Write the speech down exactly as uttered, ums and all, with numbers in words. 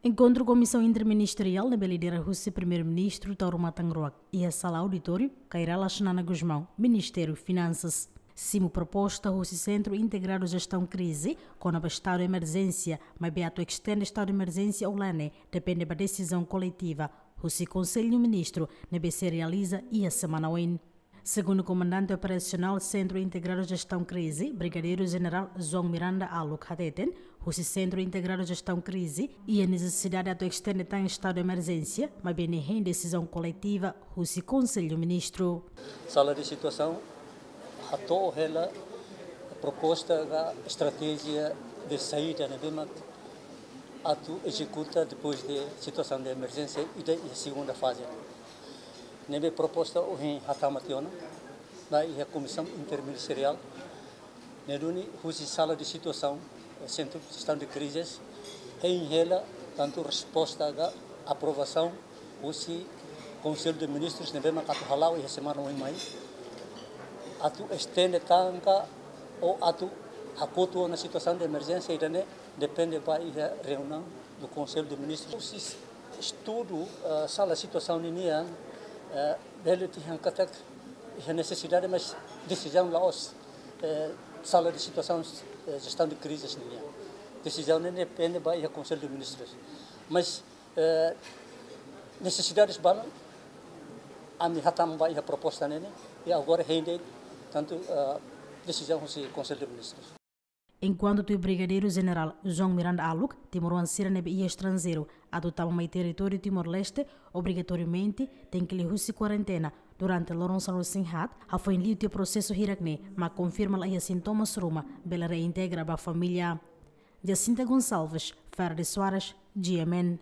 Enkontru Komisaun Interministeriál ne'ebé lidera husi Primeiru-Ministru Taur Matan Ruak iha sala auditóriu Kay Rala Xanana Gusmão, Ministériu Finansas. Simu proposta husi Sentru Integradu Jestaun Krize kona-ba estadu emerjénsia, maibé atu estende estadu emerjénsia ou la ne'e depende ba desizaun koletiva husi Konsellu Ministru ne'ebé sei realiza iha semana oin. Segundu Komandante Operasionál Sentru Integradu Jestaun Krize, Brigadeiru Jenerál João Miranda Aluk hateten, husi Sentru Integradu Jestaun Krize, iha nesesidade atu estende tan estadu emerjénsia, maibé ne'e hein desizaun koletiva husi Konsellu Ministru. Sala de situasaun hato'o hela proposta ka estratéjia de saída ne'ebé mak atu ezekuta depois de situasaun de emerjénsia ida iha segunda faze. Ne'ebé proposta ohin hatama tiha ona ba iha Komisaun Interministeriál, ne'e duni husi sala de situasaun, eh, Sentru Jestaun de Krizes, hein hela tantu resposta ka aprovasaun husi Konsellu de Ministrus ne'ebé mak atu hala'o iha semana oin mai. Atu estende tan ka ou atu hakotu ona situasaun de emerjénsia ida-ne'e depende ba iha reuniaun do Konsellu de Ministrus. Husi estudu, eh, sala situasaun ninian, eh, bele dehan katak iha nesesidade, mas desizaun la'ós, eh, sala de situasaun, eh, jestaun de krizes ninian. Desizaun ne'e depende ba iha Konsellu de Ministrus. Mas, eh, nesesidades balun, ami hatama ba iha proposta ne'e, i agora hein de'it tantu, eh, desizaun husi Konsellu de Ministrus. Enkuantu tuir Brigadeiru Jenerál João Miranda Aluk, timoroan sira ne'ebé iha estranjeiru atu tama mai territóriu Timor-Leste, obrigatoriamente tenke liuhusi kuarentena durante loron sanulu-resin-haat, hafoin liu tiha prosesu hirak-ne'e, mak konfirma la iha sintomas ruma, bele reintegra ba família. Jacinta Gonçalves, Fernando Soares, G M N.